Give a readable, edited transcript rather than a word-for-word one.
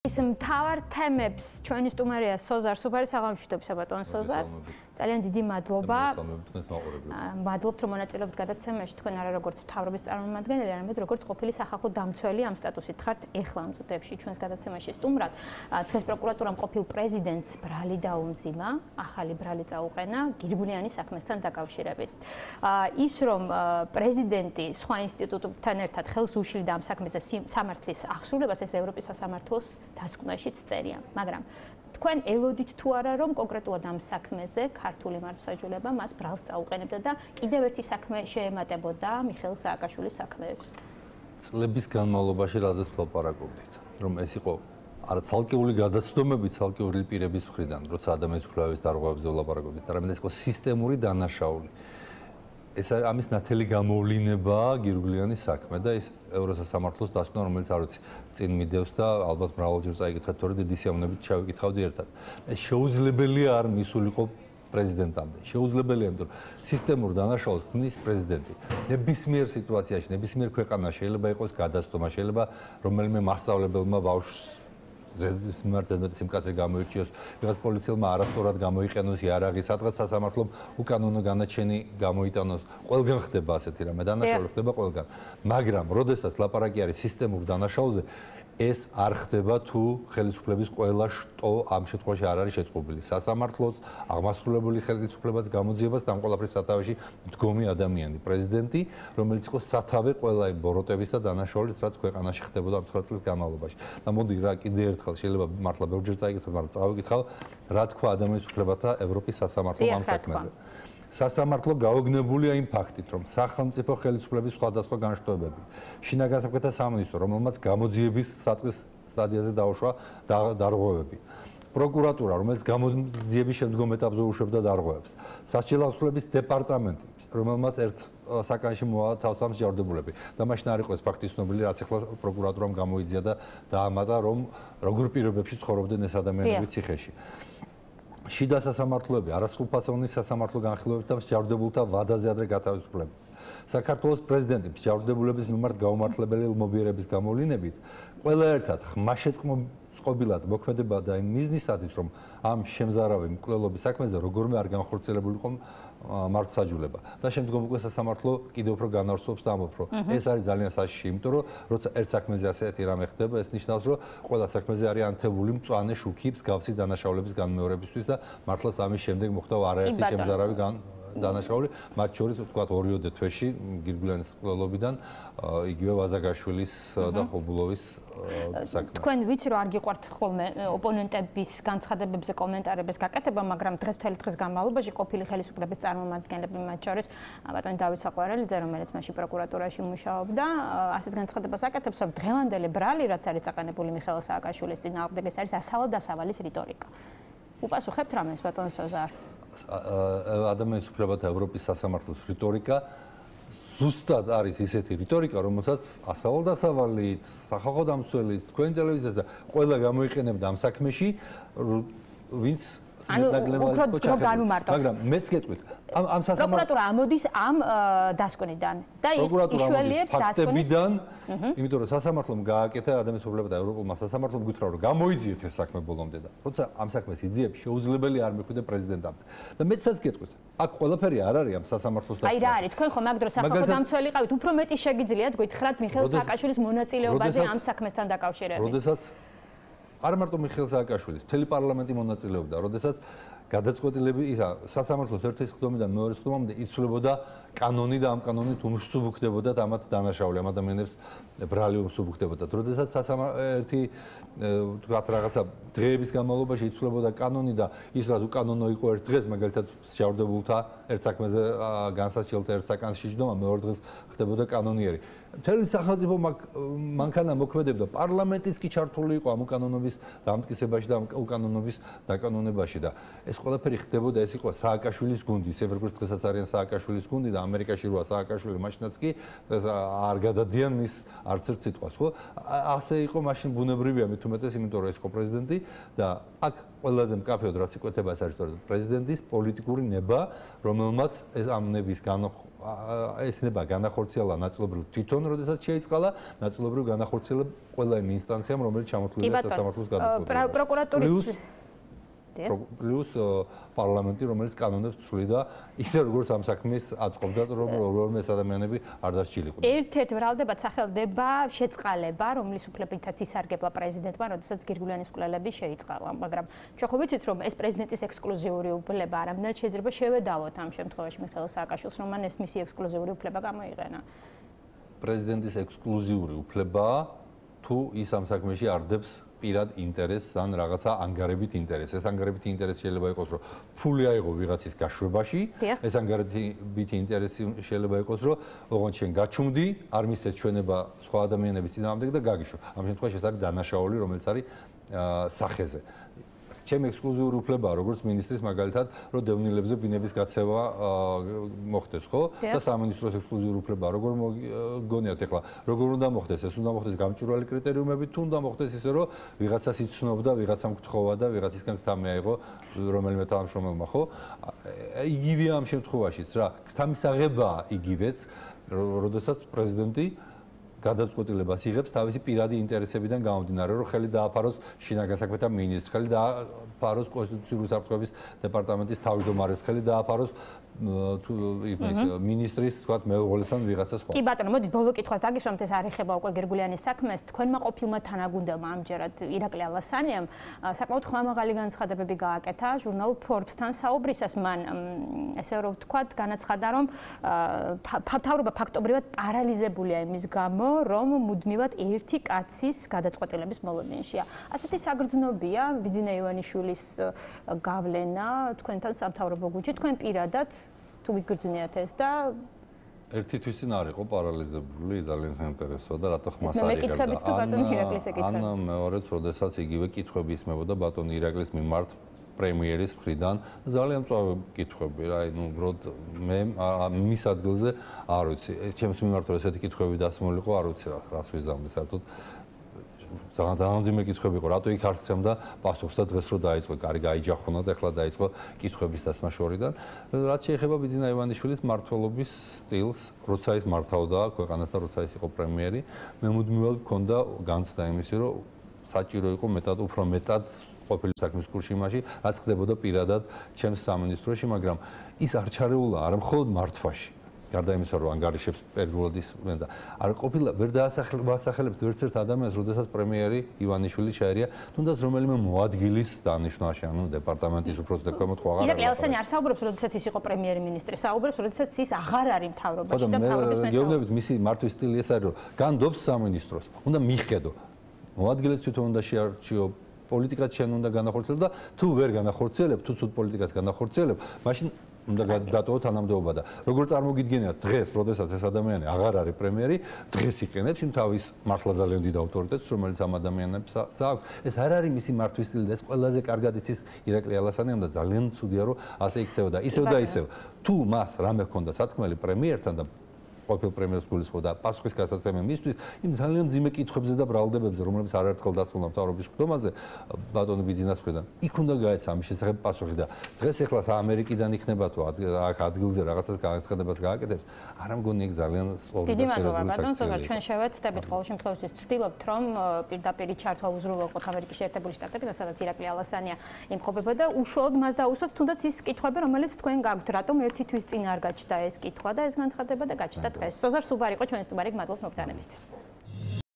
ის მთავარ თემებს ჩვენი სტუმარია სოზარ სუფარი საღამოშვიდობისა ბატონ სოზარ. ძალიან დიდი მადლობა. მადლობთ რომ მონაწილეობთ გადაცემაში თქვენ არა როგორც მთავრობის წარმომადგენელი, არამედ როგორც ყოფილი სახალხო დამცველი ამ სტატუსით ხართ ეხლა ამ წუთებში ჩვენს გადაცემაში სტუმრად. დღეს პროკურატურამ ყოფილ პრეზიდენტს ბრალი დაუმძიმა, ახალი ბრალი წაუყენა გირგულიანის საქმესთან დაკავშირებით. ის რომ პრეზიდენტი სხვა ინსტიტუტებთან ერთად ხელს უშლიდა ამ საქმეზე სამართლის აღსრულებას, ეს ევროპის სასამართლოს დასკვნაშიც წერია, მაგრამ თქვენ ელოდით თუ არა რომ კონკრეტულად ამ საქმეზე ქართული მართლმსაჯულება მას ბრალს წაუყენებდა და კიდევ ერთი საქმე შეემატებოდა მიხეილ სააკაშვილის საქმეებს. წლების განმავლობაში რაზეც ვლაპარაკობდით, რომ ეს იყო არა ცალკეული გადაცდომები ცალკეული პირების მხრიდან, როცა ადამიანის უფლებების დარღვევებზე ვლაპარაკობდით, არამედ ეს იყო სისტემური დანაშაული. ეს ამის ნათელი გამოვლინება გირგულიანის საქმე და ის ევროსასამართლოს დასკვნა, რომელიც არ ვიცი, წინ მიდევს და ალბათ მრავალჯერ წაიკითხეთ, თორე დიდი სიამოვნებით ჩავიკითხავდი ერთად. ეს შეუძლებელია არ მისულიყო პრეზიდენტამდე. შეუძლებელია, იმიტომ რომ სისტემურ დანაშაულს ქმნის პრეზიდენტი. ნებისმიერ სიტუაციაში, ნებისმიერ ქვეყანაში შეიძლება იყოს გადაცდომა, შეიძლება რომელიმე მასწავლებელმა ბავშვს ზედმეტ სიმკაცრე გამოირჩიოს, ვიღაც პოლიციელმა არასწორად გამოიყენოს იარაღი, სადღაც სასამართლომ უკანონო განაჩენი გამოიტანოს. ყველგან ხდება ასეთი რამე, დანაშაული ხდება ყველგან. მაგრამ, როდესაც ლაპარაკი არის სისტემურ დანაშაულზე, ეს არ ხდება თუ ხელისუფლების ყველა შტო ამ შემთხვევაში არ არის შეწყობილი. სასამართლოც, აღმასრულებელი ხელისუფლებაც გამოძიებას და ამ ყველაფრის სათავეში მდგომი ადამიანი, პრეზიდენტი, რომელიც იყო სათავე ყველა იმ ბოროტების და დანაშაულის, რაც ქვეყანაში ხდებოდა ამ 9 წლის განმავლობაში. და მოდი რა კიდე ერთხელ შეიძლება მართლა ბევრჯერ წაიკითხოთ, მაგრამ წავიკითხავ, რა თქვა ადამიანის უფლებათა ევროპის სასამართლომ ამ საქმეზე. სასამართლო გაოგნებულია იმ ფაქტით, რომ სახელმწიფო ხელისუფლების სხვადასხვა განშტოებები, შინაგან საქმეთა სამინისტრო, რომელმაც გამოძიების საწყის სტადიაზე დაუშვა დარღვევები, პროკურატურა, რომელიც გამოძიების შემდგომ ეტაპზე უშვებდა დარღვევებს, სასჯელო აღსრულების დეპარტამენტი, რომელმაც ერთ საკანში მოავა თავს ამ მსჯავრდებულები. და მაშინ არ იყო ეს ფაქტი ცნობილი, რაც ახლა პროკურატურამ გამოიძია და დაამატა, რომ როგორ პირობებში ცხოვრობდნენ ეს ადამიანები ციხეში. შიდა სასამართლოები, არასრულფასოვნის სასამართლო განხილვებით და მსჯავრდებულთა ვადაზე ადრე გათავისუფლება. საქართველოს პრეზიდენტი მსჯავრდებულების მიმართ გაუმართლებელი ლმობიერების გამოვლინებით ყველა ერთად ხმაშეწყობილად მოქმედება და იმ მიზნისათვის, რომ ამ შემზარავი მკვლელობის საქმეზე როგორმე არ განხორციელებული იყო მართლმსაჯულება. და შემდგომ უკვე სასამართლო კიდევ უფრო განავრცობს და ამბობს, რომ ეს არის ძალიან საშიში, იმიტომ რომ როცა ერთ საქმეზე ასეთი რამე ხდება, ეს ნიშნავს, რომ ყველა საქმეზე არის ანთებული მწვანე შუქი მსგავსი დანაშაულების განმეორებისთვის და მართლაც ამის შემდეგ მოხდა არაერთი შემზარავი დანაშაული, მათ შორის ვთქვათ 2-3 თვეში გირგულიანის მკვლელობიდან იგივე ვაზაგაშვილის და ხობულოვის საქმე. თქვენ ვიცი რომ არ გიყვართ ხოლმე ოპონენტების განცხადებებზე კომენტარების გაკეთება, მაგრამ დღეს-მთელი დღის განმავლობაში ყოფილი ხელისუფლების წარმომადგენლები, მათ შორის ბატონი დავით საყვარელიძე, რომელიც მაშინ პროკურატურაში მუშაობდა, ასეთ განცხადებას აკეთებს, რომ დღევანდელი ბრალი, რაც არის წაყენებული მიხეილ სააკაშვილის წინააღმდეგ, ეს არის ასავალ-დასავალის რიტორიკა. უპასუხებთ რამეს ბატონ სოზარ? ადამიანის უფლებათა ევროპის სასამართლოს რიტორიკა ზუსტად არის ისეთი რიტორიკა, რომელსაც ასავალ-დასავალიც, სახალხო დამცველიც, თქვენი ტელევიზიაც და ყველა გამოიყენებდა ამ საქმეში, ვინც მაგრამ მეც გეტყვით, ამ სასამართლო პროკურატურა ამოდის ამ დასკვნიდან და იშველიებს ფაქტებიდან, იმიტომ რომ სასამართლომ გააკეთა ადამიანის უფლებათა ევროპულმა სასამართლომ გითხრა, რომ გამოიძიეთ ეს საქმე ბოლომდე და როცა ამ საქმეს იძიებს, შეუძლებელი არ მიხვიდე პრეზიდენტამდე. და მეცაც გეტყვით, აქ ყველაფერი არ არის ამ სასამართლოს აი რა არის, თქვენ ხომ აქ დროს სახალხო დამცველი ყავით, უფრო მეტი შეგიძლიათ გითხრათ მიხეილ სააკაშვილის მონაწილეობაზე ამ საქმესთან დაკავშირებით. როდესაც არ მარტო მიხეილ სააკაშვილის, მთელი პარლამენტი მონაწილეობდა, როდესაც გადაწყვეტილები ისა სასამართლოს ერთის ხდომიდან მეორე ხდომამდე იცვლებოდა კანონი და ამ კანონით უმსუბუქდებოდა და ამათ დანაშაული ამ ადამიანებს ბრალი უმსუბუქდებოდა. როდესაც ერთი თქვათ რაღაცა დღეების განმავლობაში იცვლებოდა კანონი და ის რაც უკანონო იყო ერთ დღეს, მაგალითად მსჯავრდებულთა ერთ საქმეზე განსასჯელთა ერთ საკანში ჯდომა, მეორე დღეს ხდებოდა კანონიერი. მთელი სახელმწიფო მანქანა მოქმედებდა, პარლამენტიც კი ჩართული იყო ამ უკანონობის დამტკიცებაში და უკანონობის დაკანონებაში და ეს ყველაფერი ხდებოდა, ეს იყო სააკაშვილის გუნდი, ისე როგორც დღესაც არიან სააკაშვილის გუნდი და და ამერიკაში როა სააკაშვილი მაშინაც კი არ გადადიან მის არც ერთ სიტყვას, ხო? ასე იყო მაშინ ბუნებრივია მით უმეტეს, იმიტომ რომ ეს იყო პრეზიდენტი და აქ ყველაზე მკაფიოდ რაც იკვეთება ეს არის სწორედ პრეზიდენტის პოლიტიკური ნება, რომელმაც ეს ამ ნების ეს ნება განახორციელა ნაწილობრივ თვითონ, როდესაც შეიწყალა, ნაწილობრივ განახორციელა ყველა იმ ინსტანციამ, რომელიც ჩამოთვლილია სასამართლოს გადაწყვეტილებაში. პროკურატურის პლუს პარლამენტი, რომელიც კანონებს ცვლიდა, ისე როგორც ამ საქმეს აწყობდა, რომ რომელიმე ადამიანები არ დასჭილიყვნენ. ერთ-ერთ ვრალდებად სახელდება შეწყალება, რომლის უფლებითაც ისარგებლა პრეზიდენტმა, როდესაც გირგულიანის მკვლელები შეიწყალა, მაგრამ ჩვენ ხო ვიცით, რომ ეს პრეზიდენტის ექსკლუზიური უფლება არამედ შეიძლება შევედავოთ ამ შემთხვევაში მიხეილ სააკაშვილს, რომ მან ეს მისი ექსკლუზიური უფლება გამოიყენა. პრეზიდენტის ექსკლუზიური უფლებაა თუ ის ამ საქმეში არდებს პირად ინტერესს ან რაღაცა ანგარებით ინტერესს. ეს ანგარებით ინტერესი შეიძლება იყოს, რომ ფული აიღო ვიღაცის გაშვებაში, ეს ანგარებით ინტერესი შეიძლება იყოს, რომ ოღონდ შენ გაჩუმდი, არ მისცეს ჩვენება სხვა ადამიანების წინააღმდეგ და გაგიშო. ამ შემთხვევაში ეს არის დანაშაული, რომელიც არის სახეზე. ჩემი ექსკლუზიური უფლებაა, როგორც მინისტრის მაგალითად, რომ დევნილებზე ბინების გაცემა მოხდეს, ხო? და სამინისტროს ექსკლუზიური უფლებაა, როგორ მოგონიათ ახლა, როგორ უნდა მოხდეს? ეს უნდა მოხდეს გამჭვირვალე კრიტერიუმებით, თუ უნდა მოხდეს ისე, რომ ვიღაცას იცნობდა, ვიღაცამ გთხოვა და ვიღაცისგან გთა მიაიღო რომელიმე თანამშრომელმა, ხო? იგივეა ამ შემთხვევაშიც რა, გთამისაღებაა იგივეც, როდესაც პრეზიდენტი გადაწყვეტილებას იღებს თავისი პირადი ინტერესებიდან გამომდინარე, რომ ხელი დააფაროს შინაგან საქმეთა მინისტრს, ხელი დააფაროს კონსტიტუციური საფრთხების დეპარტამენტის თავმჯდომარეს, ხელი დააფაროს მინისტრის, თქვათ, მეუღლესთან ვიღაცა სხვა. კი ბატონო, მოდით ბოლო კითხვას დაგისვამთ, ეს არ ეხება უკვე გირგულიანის საქმეს. თქვენმა ყოფილმა თანაგუნდელმა ამჯერად ირაკლი ალასანიამ საკმაოდ ხმამაღალი განცხადებები გააკეთა ჟურნალ Forbes-თან საუბრისას. მან ესე რომ ვთქვათ, განაცხადა, რომ მთავრობა ფაქტობრივად პარალიზებულია იმის გამო, რომ მუდმივად ერთი კაცის გადაწყვეტილების მოლოდინშია. ასეთი საგრძნობია ბიძინა ივანიშვილის გავლენა თქვენთან სამთავრობო გუნდში, თქვენ პირადად თუ გიგრძნიათ ეს და ერთი თვისინ არ იყო პარალიზებული, ძალიან საინტერესოა და რატო ხმას არ იღებდა. მე მეკითხები თუ ბატონი ირაკლის ეკითხა. ან მეორეც, როდესაც იგივე კითხვები ისმებოდა ბატონი ირაკლის მიმართ პრემიერის მხრიდან, ძალიან მწვავე კითხვები რა, ну, უბრალოდ მე მის ადგილზე არ ვიცი. ჩემს მიმართ რომ ესეთი კითხვები დასმულიყო, არ ვიცი რას ვიზამდი, საერთოდ ძალიან ძიმე კითხვები იყო, რატო იქ არ სცემდა პასუხს და დღეს რო დაიწყო, კარი გაიჯახუნა და ახლა დაიწყო კითხვების დასმა შორიდან. რაც შეეხება ბიძინა ივანიშვილის მმართველობის სტილს, როცა ის მართავდა ქვეყანას და როცა ის იყო პრემიერი, მე მუდმივად მქონდა განცდა იმისი, რომ საჭირო იყო უფრო მეტად ყოფილი საქმის კურსში იმაში, რაც ხდებოდა პირადად ჩემს სამინისტროში, მაგრამ ის არ ჩარეულა არა მხოლოდ მართვაში. გარდა იმისა, რომ ანგარიშებს პერიოდულად ისმენ და არ ყოფილა ვერ დაასახელებთ ვერც ერთ ადამიანს, როდესაც პრემიერი ივანიშვილი შეერია, თუნდაც რომელიმე მოადგილის დანიშვნაში, ანუ დეპარტამენტის უფროსი და ქვემოთ ხო აღარ არის. ირაკლი ალასანი არ საუბრობს, როდესაც ის იყო პრემიერ-მინისტრი, საუბრობს, როდესაც ის აღარ არის მთავრობაში და მთავრობის მეთაური. გეუბნებით, მისი მართვის სტილი ეს არის, რომ განდობს სამინისტროს, უნდა მიხედო. მოადგილეს თვითონ უნდა შეარჩიო, პოლიტიკაც შენ უნდა განახორციელო და თუ ვერ განახორციელებ, თუ ცუდ პოლიტიკას განახორციელებ, მაშინ უნდა დატოვო თანამდებობა და როგორ წარმოგიდგენიათ დღეს, როდესაც ეს ადამიანი აღარ არის პრემიერი, დღეს იყენებს იმ თავის მართლა ძალიან დიდ ავტორიტეტს, რომელიც ამ ადამიანებს აქვს. ეს არ არის მისი მართვის სტილი და ეს ყველაზე კარგად იცის ირაკლი ალასანიამ და ძალიან ცუდია, რომ ასე იქცევა და ისევ და ისევ. თუ მას რამე ჰქონდა სათქმელი პრემიერთან და ყოფილ პრემიერს გულისხმობდა და პასუხის გასაცემა მისთვის, იმ ძალიან ძიმე კითხვებზე და ბრალდებებზე, რომლებიც არაერთხელ დასმულდა მთავრობის ხდომაზე ბატონი ბიძინას მხრიდან, იქ უნდა გაეცა ამის შესახებ პასუხი და დღეს ეხლა ამერიკიდან იქნება თუ აქ ადგილზე რაღაცას განაცხადებას გააკეთებს, არ მგონი იქ ძალიან სწორი და სერიოზული საკითხია. ჩვენ შევეცდებით ყოველ შემთხვევაში ვცდილობთ, რომ პირდაპირ ჩართვა უზრუნველყოთ ამერიკის შეერთებული შტატებიდან, სადაც ირაკლი ალასანია იმყოფება და უშუალოდ მას დაუსვათ, თუნდაც ის კითხვები, რომელიც თქვენ გაქვთ, რატომ ერთი თვის წინ არ გაჩნდა ეს კითხვა და ეს განცხადება და გაჩნდა. სოზარ სუბარ იყო ჩვენი სტუმარი, გმადლობთ მოგზაურობისთვის.